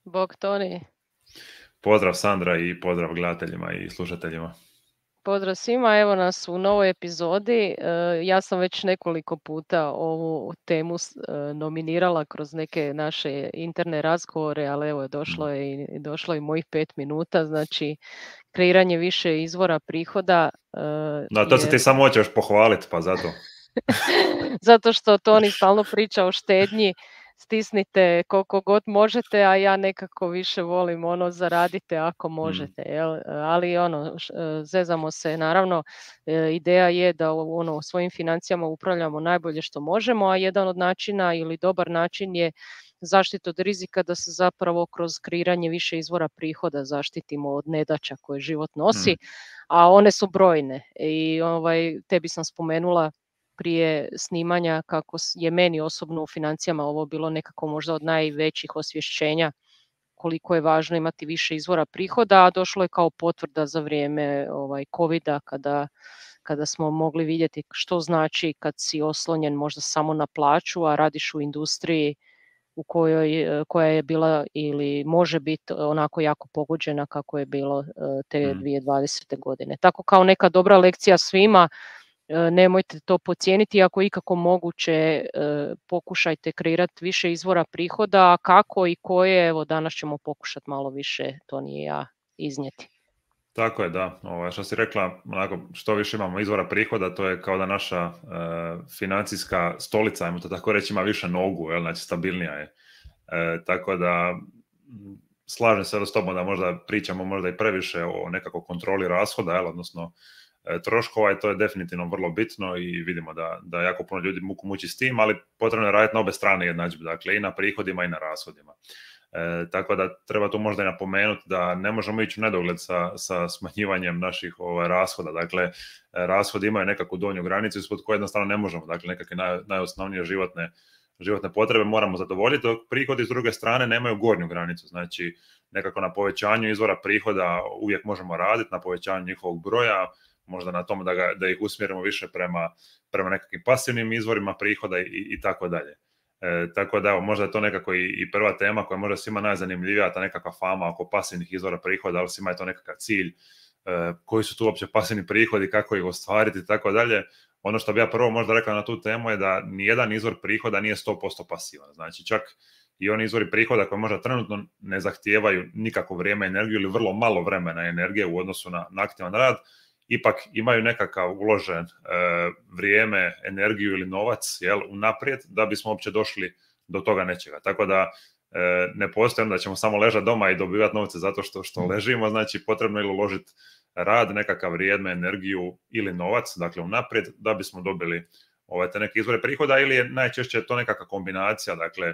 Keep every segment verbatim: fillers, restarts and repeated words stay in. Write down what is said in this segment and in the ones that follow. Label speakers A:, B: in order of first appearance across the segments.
A: Bog Toni.
B: Pozdrav Sandra i pozdrav gledateljima i slušateljima.
A: Pozdrav svima, evo nas u novoj epizodi. Ja sam već nekoliko puta ovu temu nominirala kroz neke naše interne razgovore, ali evo došlo je i došlo i mojih pet minuta, znači kreiranje više izvora prihoda.
B: Da, to se
A: Jer...
B: ti samo hoćeš pohvaliti, pa zato.
A: Zato što Toni stalno priča o štednji, stisnite koliko god možete, a ja nekako više volim ono zaradite ako možete, jel? Ali ono, zezamo se, naravno, ideja je da ono, svojim financijama upravljamo najbolje što možemo, a jedan od načina ili dobar način je zaštita od rizika, da se zapravo kroz kreiranje više izvora prihoda zaštitimo od nedaća koje život nosi,
B: Mm.
A: a one su brojne. I ovaj, tebi sam spomenula prije snimanja kako je meni osobno u financijama ovo bilo nekako možda od najvećih osvješćenja koliko je važno imati više izvora prihoda, a došlo je kao potvrda za vrijeme ovaj, covida kada, kada smo mogli vidjeti što znači kad si oslonjen možda samo na plaću, a radiš u industriji u kojoj, koja je bila ili može biti onako jako pogođena kako je bilo te dvije tisuće dvadesete. godine. Tako kao neka dobra lekcija svima, nemojte to podcijeniti, ako ikako moguće pokušajte kreirati više izvora prihoda, kako i koje, evo danas ćemo pokušati malo više, to nije ja, iznijeti.
B: Tako je, da. Ovo, što si rekla, onako, što više imamo izvora prihoda, to je kao da naša e, financijska stolica, ajmo to tako reći, ima više nogu, jel? Znači stabilnija je. E, tako da, slažem se s tobom da možda pričamo možda i previše o nekako kontroli rashoda, jel? Odnosno e, troškova, i to je definitivno vrlo bitno i vidimo da, da jako puno ljudi muku muči s tim, ali potrebno je raditi na obe strane jednadžbe, dakle i na prihodima i na rashodima. E, tako da treba tu možda i napomenuti da ne možemo ići u nedogled sa, sa smanjivanjem naših ovaj, rashoda. Dakle, rashodi imaju nekakvu donju granicu ispod koje jednostavno ne možemo. Dakle, nekakve naj, najosnovnije životne, životne potrebe moramo zadovoljiti, dok prihodi s druge strane nemaju gornju granicu. Znači, nekako na povećanju izvora prihoda uvijek možemo raditi, na povećanju njihovog broja, možda na tom da, ga, da ih usmjerimo više prema, prema nekakvim pasivnim izvorima prihoda i, i tako dalje. E, tako da evo, možda je to nekako i, i prva tema koja možda svima najzanimljivija, ta nekakva fama oko pasivnih izvora prihoda, ali svima je to nekakav cilj, e, koji su tu uopće pasivni prihodi, kako ih ostvariti i tako dalje. Ono što bi ja prvo možda rekao na tu temu je da nijedan izvor prihoda nije sto posto pasivan. Znači čak i oni izvori prihoda koji možda trenutno ne zahtijevaju nikakvo vrijeme, energiju ili vrlo malo vremena i energije u odnosu na, na aktivan rad, ipak imaju nekakav uložen e, vrijeme, energiju ili novac, jel, unaprijed da bismo uopće došli do toga nečega. Tako da e, ne postoji da ćemo samo ležati doma i dobivati novce zato što, što ležimo, znači potrebno je uložiti rad, nekakav vrijeme, energiju ili novac, dakle unaprijed, da bismo dobili ove te neke izvore prihoda, ili je najčešće to nekakva kombinacija, dakle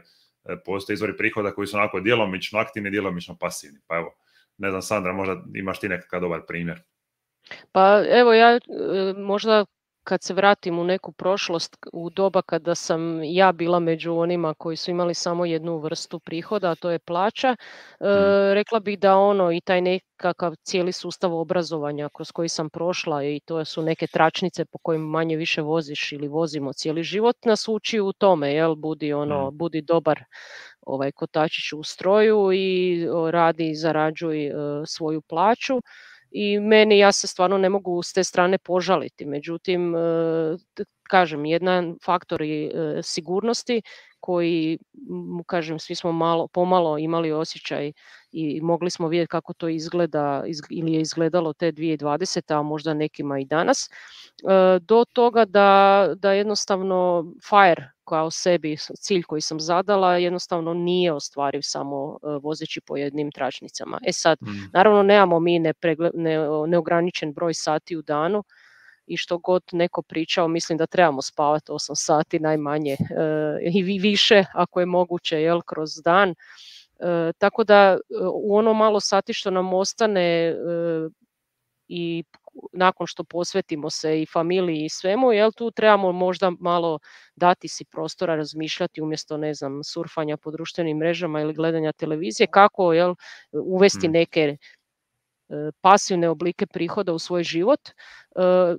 B: postoje izvori prihoda koji su onako djelomično aktivni, djelomično pasivni. Pa evo, ne znam, Sandra, možda imaš ti nekakav dobar primjer.
A: Pa evo ja možda kad se vratim u neku prošlost, u doba kada sam ja bila među onima koji su imali samo jednu vrstu prihoda, a to je plaća, mm. rekla bih da ono i taj nekakav cijeli sustav obrazovanja kroz koji sam prošla, i to su neke tračnice po kojim manje više voziš ili vozimo cijeli život, nas uči u tome, jel, budi ono, mm. budi dobar ovaj kotačić u stroju i radi i zarađuj uh, svoju plaću. I meni, ja se stvarno ne mogu s te strane požaliti. Međutim, kažem, jedan faktor je sigurnosti koji, kažem, svi smo malo, pomalo imali osjećaj i mogli smo vidjeti kako to izgleda ili je izgledalo te dvije tisuće dvadesete. a možda nekima i danas, do toga da, da jednostavno FIRE kao sebi cilj koji sam zadala jednostavno nije ostvariv samo vozeći po jednim tračnicama. E sad, mm. naravno nemamo mi nepregle, ne, neograničen broj sati u danu, i što god neko pričao, mislim da trebamo spavati osam sati najmanje, e, i više ako je moguće, jel, kroz dan. E, tako da u ono malo sati što nam ostane e, i nakon što posvetimo se i familiji i svemu, jel, tu trebamo možda malo dati si prostora, razmišljati umjesto, ne znam, surfanja po društvenim mrežama ili gledanja televizije, kako, jel, uvesti neke pasivne oblike prihoda u svoj život.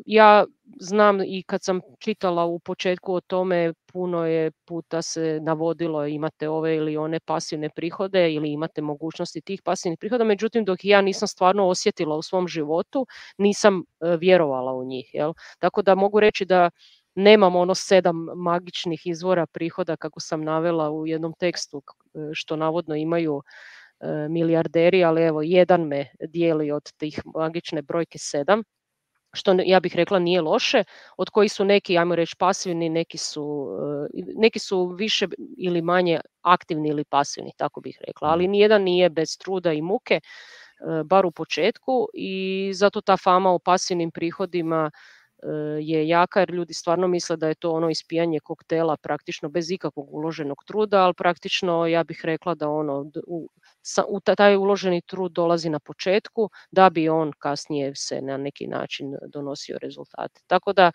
A: Ja znam i kad sam čitala u početku o tome, puno je puta se navodilo imate ove ili one pasivne prihode ili imate mogućnosti tih pasivnih prihoda, međutim dok ja nisam stvarno osjetila u svom životu, nisam vjerovala u njih. Jel? Tako da mogu reći da nemam ono sedam magičnih izvora prihoda kako sam navela u jednom tekstu što navodno imaju milijarderi, ali evo jedan me dijeli od tih magične brojke sedam, što ja bih rekla nije loše, od kojih su neki, ajmo reći, pasivni, neki su, neki su više ili manje aktivni ili pasivni, tako bih rekla, ali nijedan nije bez truda i muke, bar u početku, i zato ta fama o pasivnim prihodima je jaka jer ljudi stvarno misle da je to ono ispijanje koktela praktično bez ikakvog uloženog truda, ali praktično ja bih rekla da ono u, u taj uloženi trud dolazi na početku da bi on kasnije se na neki način donosio rezultate. Tako da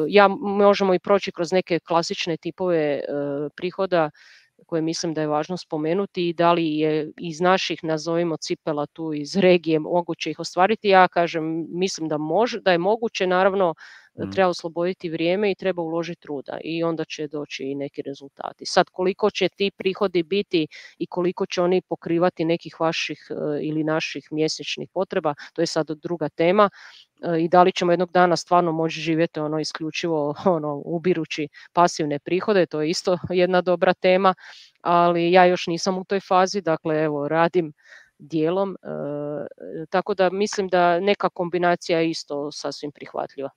A: ja možemo i proći kroz neke klasične tipove prihoda koje mislim da je važno spomenuti i da li je iz naših, nazovimo, cipela tu iz regije moguće ih ostvariti. Ja kažem, mislim da može, da je moguće, naravno mm. treba osloboditi vrijeme i treba uložiti truda i onda će doći i neki rezultati. Sad koliko će ti prihodi biti i koliko će oni pokrivati nekih vaših ili naših mjesečnih potreba, to je sad druga tema. I da li ćemo jednog dana stvarno moći živjeti ono isključivo ono ubirući pasivne prihode, to je isto jedna dobra tema, ali ja još nisam u toj fazi, dakle evo radim dijelom, e, tako da mislim da neka kombinacija je isto sasvim prihvatljiva.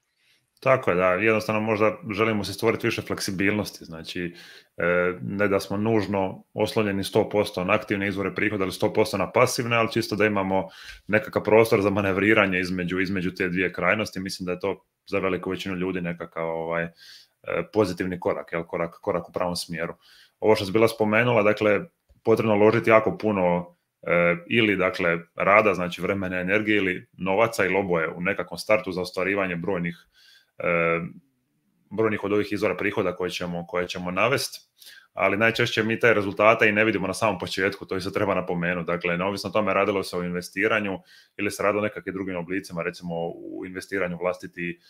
B: Tako je, da, jednostavno možda želimo se stvoriti više fleksibilnosti, znači ne da smo nužno oslonjeni sto posto na aktivne izvore prihoda ili sto posto na pasivne, ali čisto da imamo nekakav prostor za manevriranje između, između te dvije krajnosti. Mislim da je to za veliku većinu ljudi nekakav ovaj, pozitivni korak, jel, korak, korak u pravom smjeru. Ovo što si bila spomenula, dakle, potrebno uložiti jako puno ili dakle rada, znači vremena, energije ili novaca ili oboje u nekakvom startu za ostvarivanje brojnih brojnih od ovih izvora prihoda koje ćemo, koje ćemo navesti, ali najčešće mi te rezultate i ne vidimo na samom početku, to se treba napomenuti. Dakle, neovisno o tome radilo se o investiranju ili se radilo o nekakvim drugim oblicima, recimo u investiranju vlastiti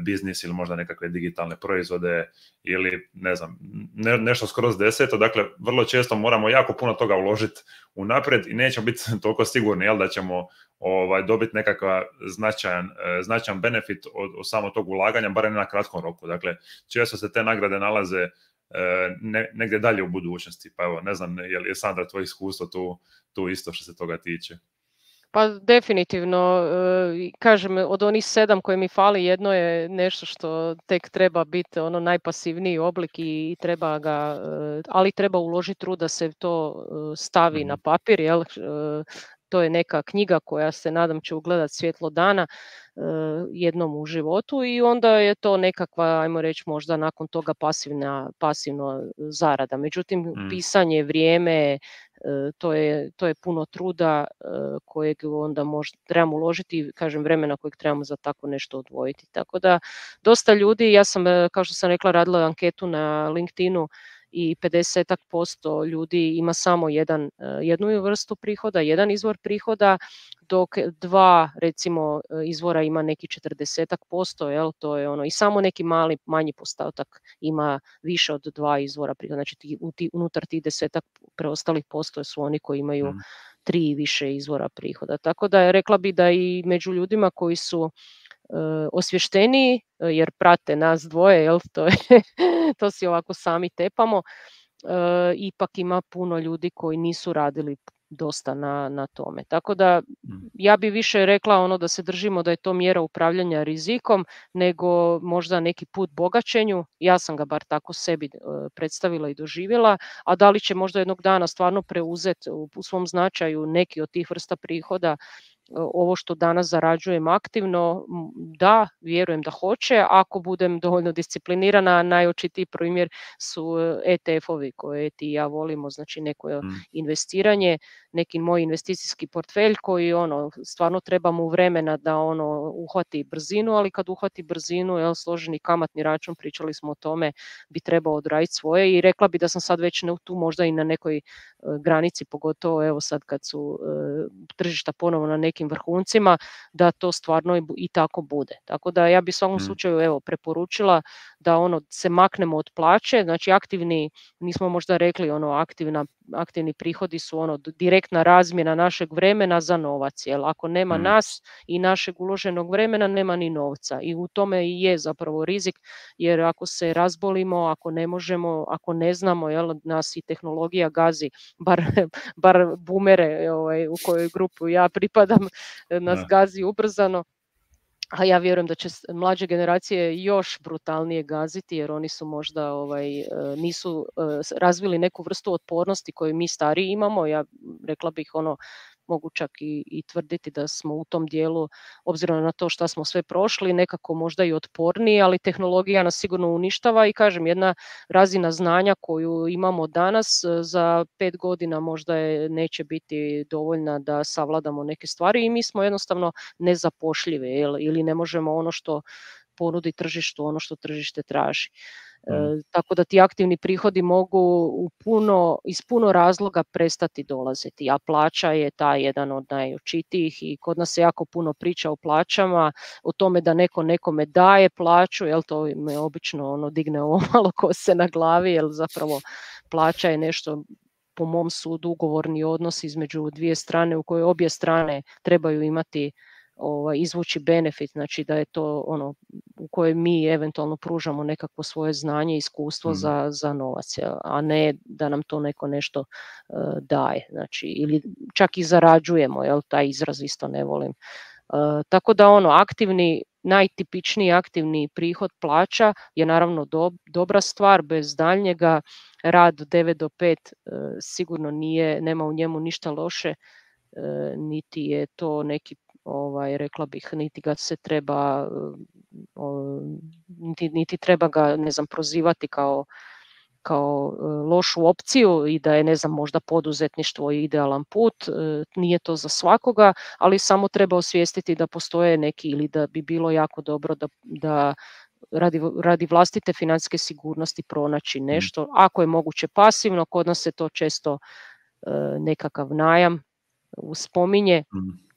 B: biznis ili možda nekakve digitalne proizvode ili ne znam, ne, nešto skroz deseto. Dakle, vrlo često moramo jako puno toga uložiti unaprijed i nećemo biti toliko sigurni jel, da ćemo ovaj, dobiti nekakav značajan, značajan benefit od, od samog tog ulaganja, barem na kratkom roku. Dakle, često se te nagrade nalaze Ne, negdje dalje u budućnosti, pa evo, ne znam, je li je Sandra tvoje iskustvo tu, tu isto što se toga tiče?
A: Pa definitivno, kažem, od onih sedam koje mi fali, jedno je nešto što tek treba biti ono najpasivniji oblik i treba ga, ali treba uložiti trud da se to stavi mm-hmm. na papir, jel? To je neka knjiga koja se nadam će ugledati svjetlo dana jednom u životu i onda je to nekakva, ajmo reći, možda nakon toga pasivna, pasivna zarada. Međutim, mm. pisanje, vrijeme, to je, to je puno truda kojeg onda možda trebamo uložiti, kažem, vremena kojeg trebamo za tako nešto odvojiti. Tako da dosta ljudi, ja sam, kao što sam rekla, radila anketu na LinkedInu i pedeset posto ljudi ima samo jedan, jednu vrstu prihoda, jedan izvor prihoda, dok dva recimo izvora ima neki četrdeset posto, jel, to je ono, i samo neki mali, manji postotak ima više od dva izvora prihoda, znači ti, unutar tih desetak preostalih posto su oni koji imaju mm. tri i više izvora prihoda. Tako da je rekla bi da i među ljudima koji su osvješteniji jer prate nas dvoje, jel, to, je, to si ovako sami tepamo, e, ipak ima puno ljudi koji nisu radili dosta na, na tome. Tako da ja bi više rekla ono da se držimo da je to mjera upravljanja rizikom nego možda neki put bogaćenju. Ja sam ga bar tako sebi e, predstavila i doživjela, a da li će možda jednog dana stvarno preuzeti u, u svom značaju neki od tih vrsta prihoda ovo što danas zarađujem aktivno, da, vjerujem da hoće, ako budem dovoljno disciplinirana. Najočitiji primjer su E T F-ovi koje ti i ja volimo, znači neko mm. investiranje, neki moj investicijski portfelj koji ono, stvarno treba mu vremena da ono uhvati brzinu, ali kad uhvati brzinu, jel, složeni kamatni račun, pričali smo o tome, bi trebao odraditi svoje i rekla bi da sam sad već tu možda i na nekoj uh, granici, pogotovo evo sad kad su uh, tržišta ponovo na neki nekim vrhuncima, da to stvarno i tako bude. Tako da ja bi u svakom
B: Mm.
A: slučaju evo preporučila da ono se maknemo od plaće, znači aktivni, nismo možda rekli ono aktivna, aktivni prihodi su ono direktna razmjena našeg vremena za novac, jel ako nema
B: Mm.
A: nas i našeg uloženog vremena nema ni novca i u tome i je zapravo rizik, jer ako se razbolimo, ako ne možemo, ako ne znamo, jel nas i tehnologija gazi, bar, bar boomere ovaj, u kojoj grupu ja pripadam, nas
B: Da.
A: gazi ubrzano. A ja vjerujem da će mlađe generacije još brutalnije gaziti jer oni su možda ovaj, nisu razvili neku vrstu otpornosti koju mi stariji imamo. Ja rekla bih ono, mogu čak i, i tvrditi da smo u tom dijelu, obzirom na to šta smo sve prošli, nekako možda i otporniji, ali tehnologija nas sigurno uništava i kažem, jedna razina znanja koju imamo danas za pet godina možda je, neće biti dovoljna da savladamo neke stvari i mi smo jednostavno nezapošljivi ili ne možemo ono što ponudi tržištu, ono što tržište traži. E, tako da ti aktivni prihodi mogu u puno, iz puno razloga prestati dolaziti, a plaća je ta jedan od najočitijih i kod nas se jako puno priča o plaćama, o tome da neko nekome daje plaću, jel to me obično ono digne ovo malo kose na glavi, jel zapravo plaća je nešto po mom sudu ugovorni odnos između dvije strane u kojoj obje strane trebaju imati Ovaj, izvući benefit, znači da je to ono u kojoj mi eventualno pružamo nekakvo svoje znanje i iskustvo mm. za, za novac, a ne da nam to neko nešto uh, daje, znači ili čak i zarađujemo, jel, taj izraz isto ne volim. Uh, tako da ono, aktivni, najtipičniji aktivni prihod plaća je naravno do, dobra stvar, bez daljnjega, rad od devet do pet uh, sigurno nije, nema u njemu ništa loše, uh, niti je to neki Ovaj, rekla bih, niti ga se treba, niti, niti treba ga, ne znam, prozivati kao, kao lošu opciju i da je, ne znam, možda poduzetništvo idealan put, nije to za svakoga, ali samo treba osvijestiti da postoje neki ili da bi bilo jako dobro da, da radi, radi vlastite financijske sigurnosti pronaći nešto, ako je moguće pasivno, kod nas se to često nekakav najam spominje,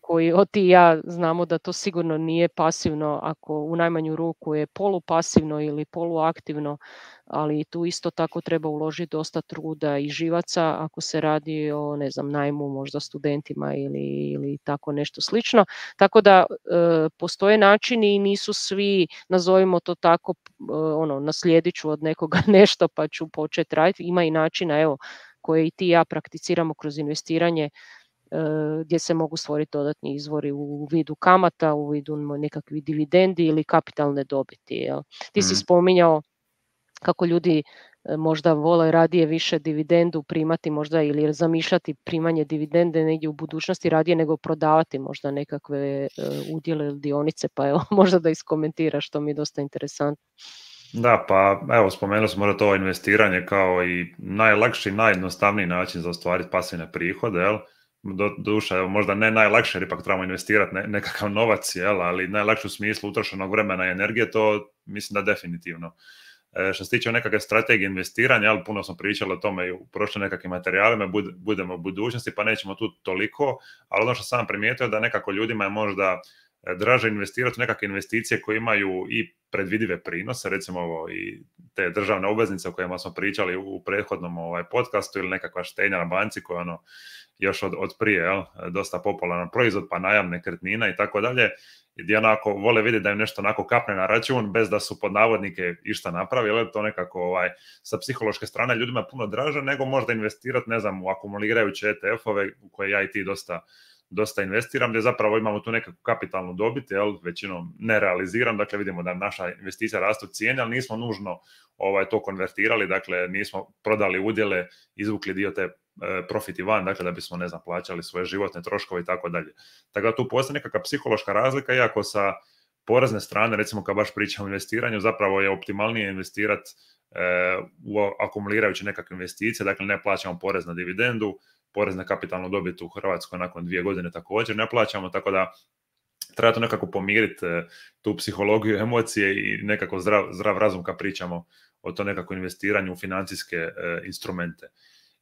A: koji od ti i ja znamo da to sigurno nije pasivno, ako u najmanju ruku je polupasivno ili poluaktivno, ali tu isto tako treba uložiti dosta truda i živaca ako se radi o, ne znam, najmu možda studentima ili, ili tako nešto slično. Tako da e, postoje načini i nisu svi, nazovimo to tako, e, ono, naslijedit ću od nekoga nešto pa ću početi raditi. Ima i načina, evo, koje i ti i ja prakticiramo kroz investiranje, gdje se mogu stvoriti dodatni izvori u vidu kamata, u vidu nekakvih dividendi ili kapitalne dobiti. Jel? Ti mm. si spominjao kako ljudi možda vole radije više dividendu primati možda ili zamišljati primanje dividende negdje u budućnosti radije nego prodavati možda nekakve udjele ili dionice, pa evo možda da iskomentiraš, što mi je dosta interesantno.
B: Da, pa evo spomenuo smo možda to investiranje kao i najlakši, najjednostavniji način za ostvariti pasivne prihode, jel? Do, duša, evo, možda ne najlakše jer ipak trebamo investirati ne, nekakav novac, jel, ali najlakše u smislu utrošenog vremena i energije, to mislim da definitivno. E, što se tiče nekakve strategije investiranja, jel, puno smo pričali o tome i u prošlim nekakvim materijalima, bud, budemo u budućnosti pa nećemo tu toliko, ali ono što sam primijetio da nekako ljudima je možda draže investirati u nekakve investicije koje imaju i predvidive prinose, recimo ovo, i te državne obveznice o kojima smo pričali u prethodnom ovaj, podcastu ili nekakva štednja na banci koja ono još od, od prije, jel, dosta popularan proizvod, pa najam nekretnina i tako dalje, gdje onako vole vidjeti da im nešto onako kapne na račun bez da su pod navodnike išta napravili, to nekako ovaj, sa psihološke strane ljudima puno draže nego možda investirati, ne znam, u akumulirajuće E T F-ove u koje ja i ti dosta dosta investiram, gdje zapravo imamo tu nekakvu kapitalnu dobit, jel, većinom ne realiziram, dakle vidimo da naša investicija rastu cijene, ali nismo nužno ovaj, to konvertirali, dakle nismo prodali udjele, izvukli dio te e, profiti van, dakle da bismo, ne znam, plaćali svoje životne troškove i tako dalje. Tako da tu postoji nekakva psihološka razlika, iako sa porezne strane, recimo kad baš pričamo o investiranju, zapravo je optimalnije investirati e, u akumulirajuće nekakve investicije, dakle ne plaćamo porez na dividendu, porez na kapitalnu dobit u Hrvatskoj nakon dvije godine također ne plaćamo, tako da treba to nekako pomiriti tu psihologiju, emocije i nekako zdrav, zdrav razum kad pričamo o to nekako investiranju u financijske e, instrumente.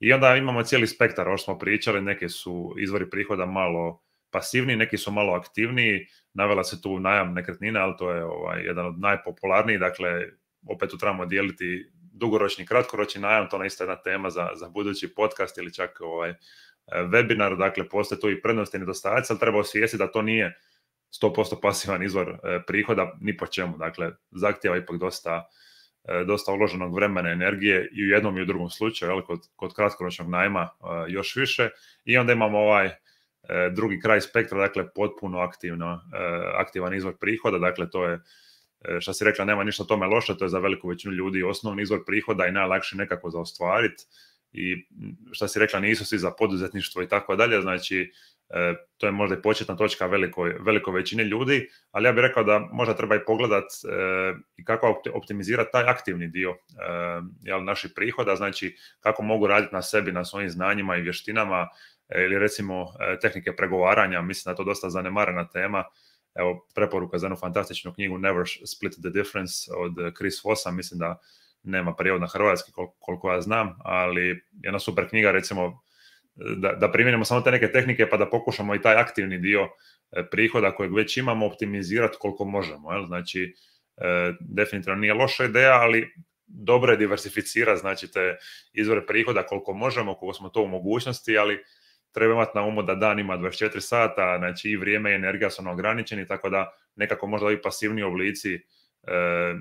B: I onda imamo cijeli spektar, ovo što smo pričali, neke su izvori prihoda malo pasivniji, neki su malo aktivniji. Navela se tu najam nekretnina, ali to je ovaj, jedan od najpopularnijih, dakle, opet tu trebamo dijeliti dugoročni i kratkoročni najam, to je isto jedna tema za, za budući podcast ili čak ovaj, webinar, dakle, postoje tu i prednosti i nedostaci, ali treba osvijestiti da to nije sto posto pasivan izvor e, prihoda ni po čemu, dakle, zahtjeva ipak dosta, e, dosta uloženog vremena, energije i u jednom i u drugom slučaju, ali kod, kod kratkoročnog najma e, još više. I onda imamo ovaj e, drugi kraj spektra, dakle, potpuno aktivno, e, aktivan izvor prihoda, dakle, to je, e, što si rekla, nema ništa tome loše, to je za veliku većinu ljudi osnovni izvor prihoda i najlakše nekako za ostvariti. I što si rekla, nisu svi za poduzetništvo i tako dalje, znači e, to je možda i početna točka velikoj, velikoj većini ljudi, ali ja bih rekao da možda treba i pogledat e, i kako optimizirati taj aktivni dio e, jel, naših prihoda, znači kako mogu raditi na sebi, na svojim znanjima i vještinama, e, ili recimo e, tehnike pregovaranja, mislim da je to dosta zanemarena tema. Evo, preporuka za jednu fantastičnu knjigu Never Split the Difference od Chris Vossa, mislim da nema prijevod na hrvatski kol- koliko ja znam, ali jedna super knjiga, recimo, da, da primjenimo samo te neke tehnike pa da pokušamo i taj aktivni dio e, prihoda kojeg već imamo optimizirati koliko možemo. Jel? Znači, e, definitivno nije loša ideja, ali dobro je diversificirati, znači, te izvore prihoda koliko možemo, koliko smo to u mogućnosti, ali treba imati na umu da dan ima dvadeset četiri sata, znači i vrijeme i energija su ograničeni, tako da nekako možda i pasivni oblici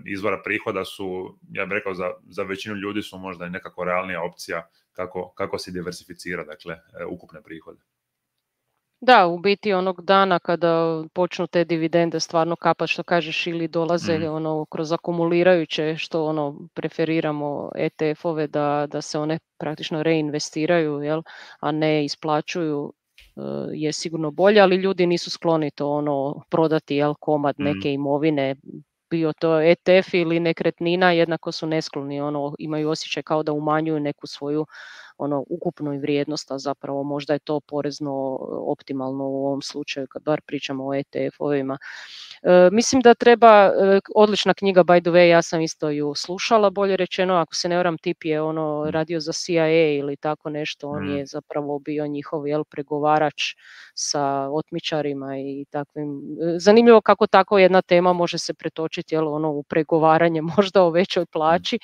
B: izvora prihoda su, ja bih rekao, za, za većinu ljudi su možda i nekako realnija opcija kako, kako se diversificira, dakle, ukupne prihode.
A: Da, u biti onog dana kada počnu te dividende stvarno kapat, što kažeš, ili dolaze mm. ono kroz akumulirajuće, što ono preferiramo E T F-ove da, da se one praktično reinvestiraju, jel, a ne isplaćuju, je sigurno bolje, ali ljudi nisu skloni to ono prodati, jel, komad neke mm. imovine, bio to E T F ili nekretnina, jednako su neskloni, ono, imaju osjećaj kao da umanjuju neku svoju ono ukupnu vrijednost, a zapravo možda je to porezno optimalno u ovom slučaju kad bar pričamo o E T F-ovima. E, mislim da treba, e, odlična knjiga by the way, ja sam isto ju slušala, bolje rečeno, ako se ne varam, tip je ono radio za C I A ili tako nešto, on mm. je zapravo bio njihov, jel, pregovarač sa otmičarima i takvim. Zanimljivo kako tako jedna tema može se pretočiti, jel, ono, u pregovaranje možda o većoj plaći,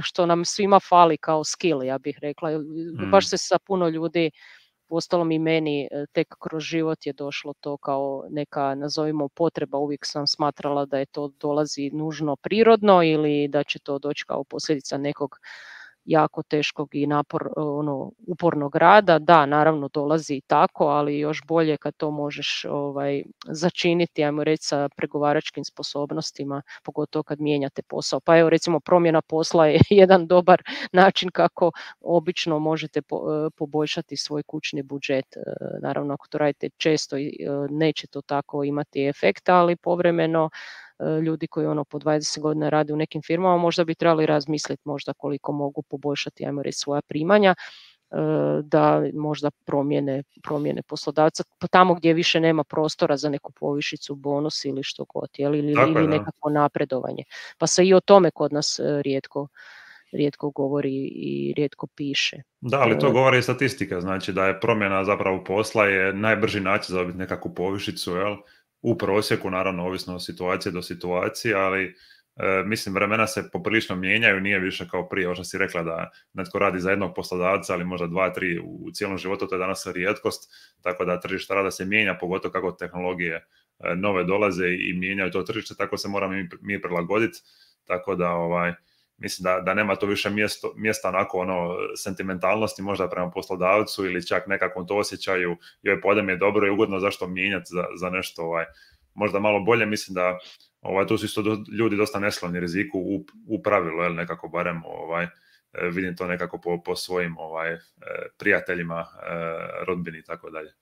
A: što nam svima fali kao skill, ja bih rekla. Mm. Baš se sa puno ljudi, uostalom i meni, tek kroz život je došlo to kao neka, nazovimo, potreba. Uvijek sam smatrala da je to dolazi nužno prirodno ili da će to doći kao posljedica nekog jako teškog i napor, ono, upornog rada. Da, naravno dolazi i tako, ali još bolje kad to možeš ovaj, začiniti, ajmo reći, sa pregovaračkim sposobnostima, pogotovo kad mijenjate posao. Pa evo, recimo, promjena posla je jedan dobar način kako obično možete po, poboljšati svoj kućni budžet. Naravno, ako to radite često, neće to tako imati efekta, ali povremeno ljudi koji ono po dvadeset godina rade u nekim firmama možda bi trebali razmisliti možda koliko mogu poboljšati, ajmo reći, svoja primanja, da možda promijene, promijene poslodavca tamo gdje više nema prostora za neku povišicu, bonus ili što god, jel, ili, ili nekako napredovanje. Pa se i o tome kod nas rijetko rijetko govori i rijetko piše.
B: Da, ali to govori i statistika, znači da je promjena zapravo posla je najbrži način za dobiti nekakvu povišicu, jel? U prosjeku, naravno, ovisno od situacije do situacije, ali e, mislim, vremena se poprilično mijenjaju, nije više kao prije, ovo što si rekla da netko radi za jednog poslodavca, ali možda dva, tri u cijelom životu, to je danas rijetkost, tako da tržište rada se mijenja, pogotovo kako tehnologije e, nove dolaze i mijenjaju to tržište, tako se moramo mi, mi prilagoditi, tako da ovaj, mislim da, da nema to više mjesto, mjesta onako ono sentimentalnosti možda prema poslodavcu ili čak nekakvom to osjećaju, joj pa ovdje mi je dobro i ugodno, zašto mijenjati za, za nešto ovaj, možda malo bolje. Mislim da ovaj, tu su isto do, ljudi dosta neskloni riziku u, u pravilu, jel, nekako barem ovaj, vidim to nekako po, po svojim ovaj, prijateljima, rodbini i tako dalje.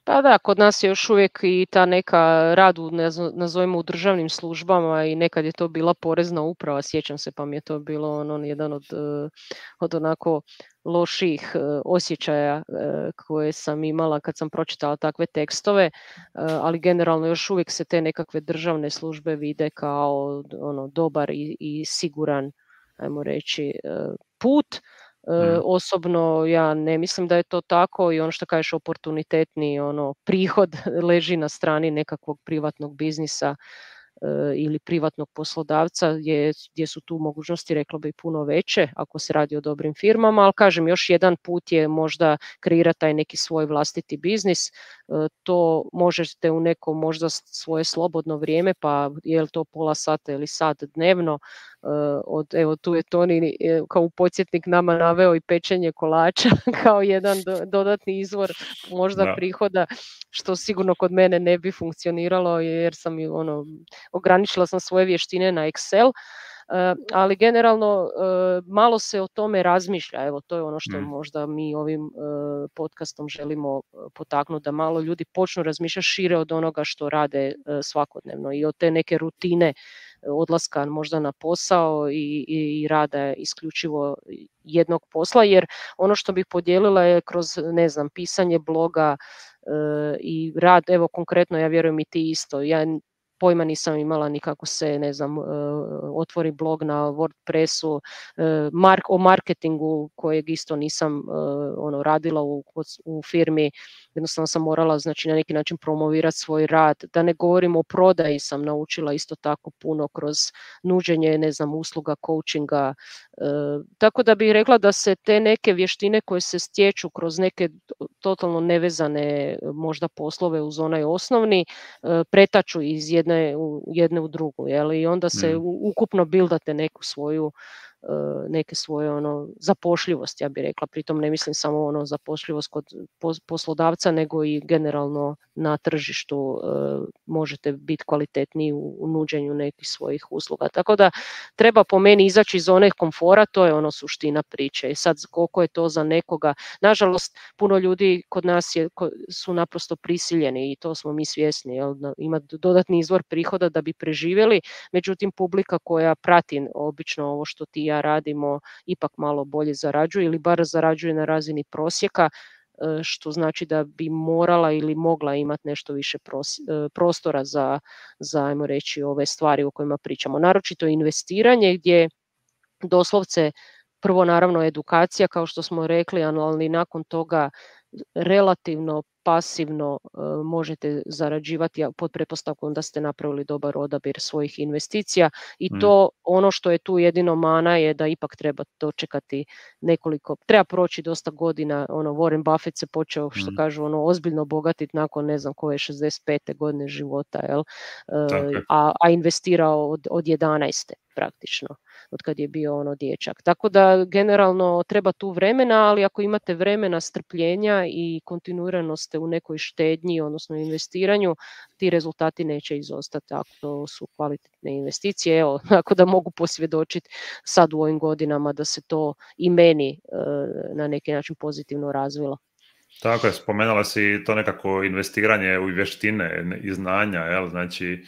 A: Pa da, kod nas je još uvijek i ta neka rad u, nazovimo, u državnim službama i nekad je to bila porezna uprava, sjećam se, pa mi je to bilo ono, jedan od, od onako loših osjećaja koje sam imala kad sam pročitala takve tekstove, ali generalno još uvijek se te nekakve državne službe vide kao ono, dobar i, i siguran, ajmo reći, put. Mm. Osobno ja ne mislim da je to tako i ono što kažeš oportunitetni ono prihod leži na strani nekakvog privatnog biznisa ili privatnog poslodavca je, gdje su tu mogućnosti, rekla bi, puno veće ako se radi o dobrim firmama, ali kažem, još jedan put je možda kreirati taj neki svoj vlastiti biznis, to možete u neko možda svoje slobodno vrijeme, pa je li to pola sata ili sat dnevno, od, evo tu je Toni kao podsjetnik nama naveo i pečenje kolača kao jedan do, dodatni izvor možda da. prihoda, što sigurno kod mene ne bi funkcioniralo jer sam ono, ograničila sam svoje vještine na Excel, ali generalno malo se o tome razmišlja, evo to je ono što mm. možda mi ovim podcastom želimo potaknuti, da malo ljudi počnu razmišljati šire od onoga što rade svakodnevno i od te neke rutine odlaska možda na posao i, i rada isključivo jednog posla, jer ono što bih podijelila je kroz, ne znam, pisanje bloga e, i rad, evo konkretno ja vjerujem i ti isto, ja pojma nisam imala ni kako se, ne znam, uh, otvori blog na WordPressu, uh, mark, o marketingu kojeg isto nisam uh, ono radila u, u firmi, jednostavno sam morala, znači, na neki način promovirati svoj rad, da ne govorim o prodaji, sam naučila isto tako puno kroz nuđenje, ne znam, usluga, coachinga, uh, tako da bih rekla da se te neke vještine koje se stječu kroz neke totalno nevezane možda poslove uz onaj osnovni, uh, pretaču iz jedne u jedne u drugu, jel? I onda se mm. ukupno bildate neku svoju neke svoje ono zapošljivost, ja bih rekla, pritom ne mislim samo ono zapošljivost kod poslodavca, nego i generalno na tržištu e, možete biti kvalitetniji u, u nuđenju nekih svojih usluga. Tako da treba po meni izaći iz one komfora, to je ono suština priče. I sad koliko je to za nekoga, nažalost puno ljudi kod nas je, su naprosto prisiljeni i to smo mi svjesni, jel, ima dodatni izvor prihoda da bi preživjeli, međutim publika koja prati obično ovo što ti ja radimo ipak malo bolje zarađuje ili bar zarađuje na razini prosjeka, što znači da bi morala ili mogla imati nešto više prostora za, za, ajmo reći, ove stvari o kojima pričamo. Naročito investiranje gdje doslovce prvo naravno edukacija, kao što smo rekli, ali nakon toga relativno pasivno uh, možete zarađivati pod pretpostavkom da ste napravili dobar odabir svojih investicija i mm. to ono što je tu jedino mana je da ipak treba dočekati nekoliko, treba proći dosta godina, ono Warren Buffett se počeo, što mm. kažu, ono ozbiljno bogatiti nakon ne znam koje šezdeset pete godine života, jel? Uh, a, a investirao od, od jedanaeste praktično, od kad je bio ono dječak. Tako da generalno treba tu vremena, ali ako imate vremena, strpljenja i kontinuiranost u nekoj štednji, odnosno investiranju, ti rezultati neće izostati ako su kvalitetne investicije. Evo, ako da mogu posvjedočiti sad u ovim godinama da se to i meni e, na neki način pozitivno razvilo.
B: Tako je, spomenula si to nekako investiranje u vještine i znanja, jel? Znači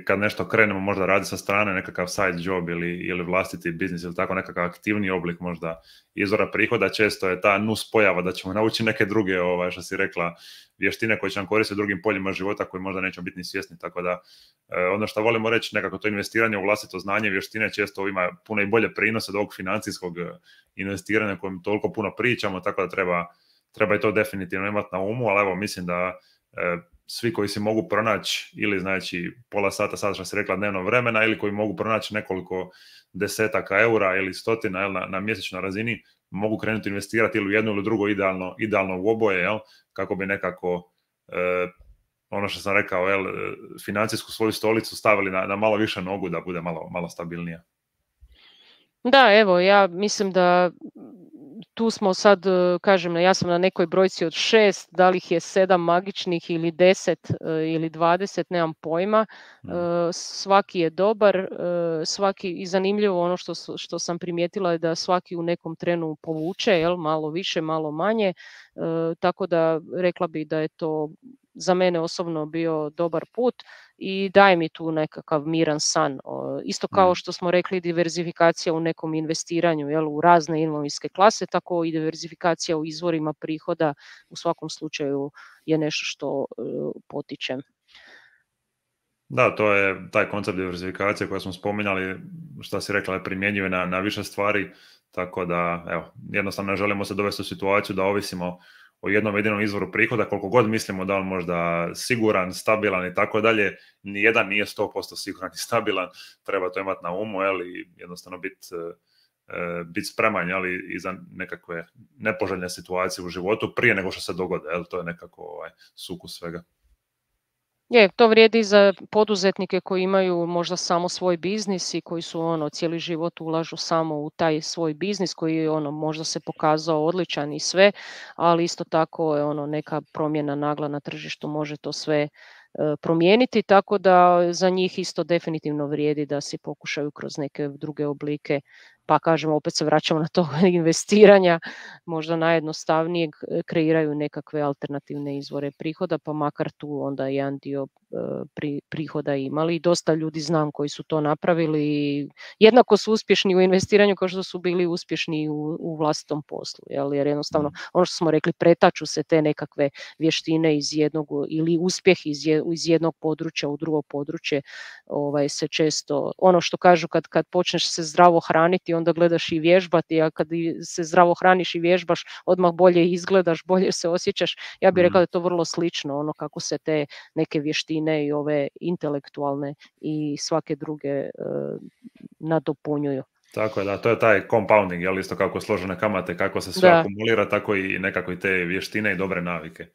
B: kad nešto krenemo možda radi sa strane, nekakav side job ili, ili vlastiti biznis ili tako nekakav aktivni oblik možda izvora prihoda, često je ta nus pojava da ćemo naučiti neke druge, ovaj, što si rekla, vještine koje će nam koristiti u drugim poljima života koji možda nećemo biti ni svjesni, tako da ono što volimo reći, nekako to investiranje u vlastito znanje i vještine često ima puno i bolje prinose od ovog financijskog investiranja kojem toliko puno pričamo, tako da treba, treba i to definitivno imati na umu, ali evo mislim da svi koji si mogu pronaći ili znači pola sata, sada što si rekla, dnevno vremena, ili koji mogu pronaći nekoliko desetaka eura ili stotina jel, na, na mjesečnoj razini, mogu krenuti investirati ili u jedno ili drugo, idealno, idealno u oboje, jel, kako bi nekako e, ono što sam rekao, jel, financijsku svoju stolicu stavili na, na malo više nogu da bude malo, malo stabilnija.
A: Da, evo, ja mislim da tu smo sad, kažem, ja sam na nekoj brojci od šest, da li ih je sedam magičnih ili deset ili dvadeset, nemam pojma. Mm. Svaki je dobar, svaki i zanimljivo ono što, što sam primijetila je da svaki u nekom trenu povuče, jel, malo više, malo manje, tako da rekla bi da je to za mene osobno bio dobar put i daje mi tu nekakav miran san. Isto kao što smo rekli, diverzifikacija u nekom investiranju, jel, u razne imovinske klase, tako i diverzifikacija u izvorima prihoda u svakom slučaju je nešto što uh, potičem.
B: Da, to je taj koncept diverzifikacije koji smo spominjali, što si rekla, je primjenjive na, na više stvari. Tako da, evo, jednostavno ne želimo se dovesti u situaciju da ovisimo o jednom jedinom izvoru prihoda, koliko god mislimo da on možda siguran, stabilan i tako dalje, nijedan nije sto posto siguran i stabilan, treba to imati na umu, jel, i jednostavno biti biti spreman, jel, i za nekakve nepoželjne situacije u životu prije nego što se dogode, jel, to je nekako ovaj, sukus svega.
A: Je, to vrijedi i za poduzetnike koji imaju možda samo svoj biznis i koji su ono cijeli život ulažu samo u taj svoj biznis koji je ono možda se pokazao odličan i sve, ali isto tako je ono neka promjena nagla na tržištu može to sve e, promijeniti, tako da za njih isto definitivno vrijedi da si pokušaju kroz neke druge oblike, pa kažemo opet se vraćamo na to investiranja, možda najjednostavnijeg kreiraju nekakve alternativne izvore prihoda, pa makar tu onda jedan dio pri, prihoda imali. I dosta ljudi znam koji su to napravili i jednako su uspješni u investiranju kao što su bili uspješni u, u vlastitom poslu, jel? Jer jednostavno ono što smo rekli, pretaču se te nekakve vještine iz jednog ili uspjeh iz, je, iz jednog područja u drugo područje, ovaj, se često, ono što kažu kad, kad počneš se zdravo hraniti, onda gledaš i vježbati, a kad se zdravo hraniš i vježbaš, odmah bolje izgledaš, bolje se osjećaš. Ja bih rekla da je to vrlo slično, ono kako se te neke vještine i ove intelektualne i svake druge uh, nadopunjuju.
B: Tako je, da, to je taj compounding, jel, isto kako složene kamate, kako se sve da. akumulira, tako i nekako i te vještine i dobre navike.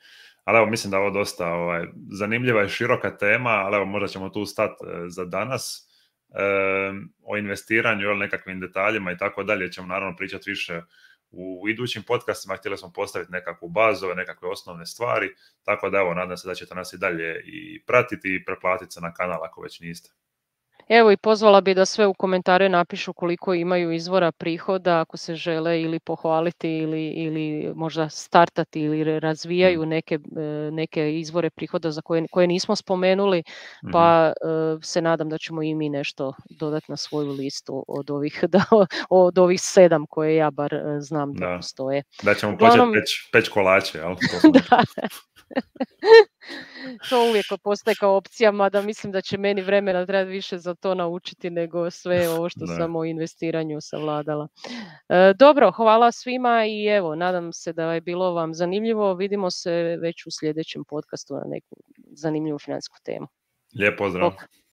B: Ali evo, mislim da je ovo dosta ovaj, zanimljiva i široka tema, ali evo, možda ćemo tu stati e, za danas. E, o investiranju, jel, nekakvim detaljima i tako dalje ćemo naravno pričati više u idućim podcastima. Htjeli smo postaviti nekakvu bazu, nekakve osnovne stvari, tako da evo, nadam se da ćete nas i dalje i pratiti i preplatiti se na kanal ako već niste.
A: Evo i pozvala bi da sve u komentare napišu koliko imaju izvora prihoda, ako se žele ili pohvaliti ili, ili možda startati ili razvijaju neke, neke izvore prihoda za koje, koje nismo spomenuli, pa mm-hmm. se nadam da ćemo i mi nešto dodati na svoju listu od ovih, da, od ovih sedam koje ja bar znam da, da postoje.
B: Da ćemo Uglavnom... početi peć, peć kolače, jel?
A: Da. To uvijek postaje kao opcija, mada mislim da će meni vremena trebati više za to naučiti nego sve ovo što ne. sam o investiranju savladala. E, dobro, hvala svima i evo, nadam se da je bilo vam zanimljivo. Vidimo se već u sljedećem podcastu na neku zanimljivu financijsku temu.
B: Lijep pozdrav.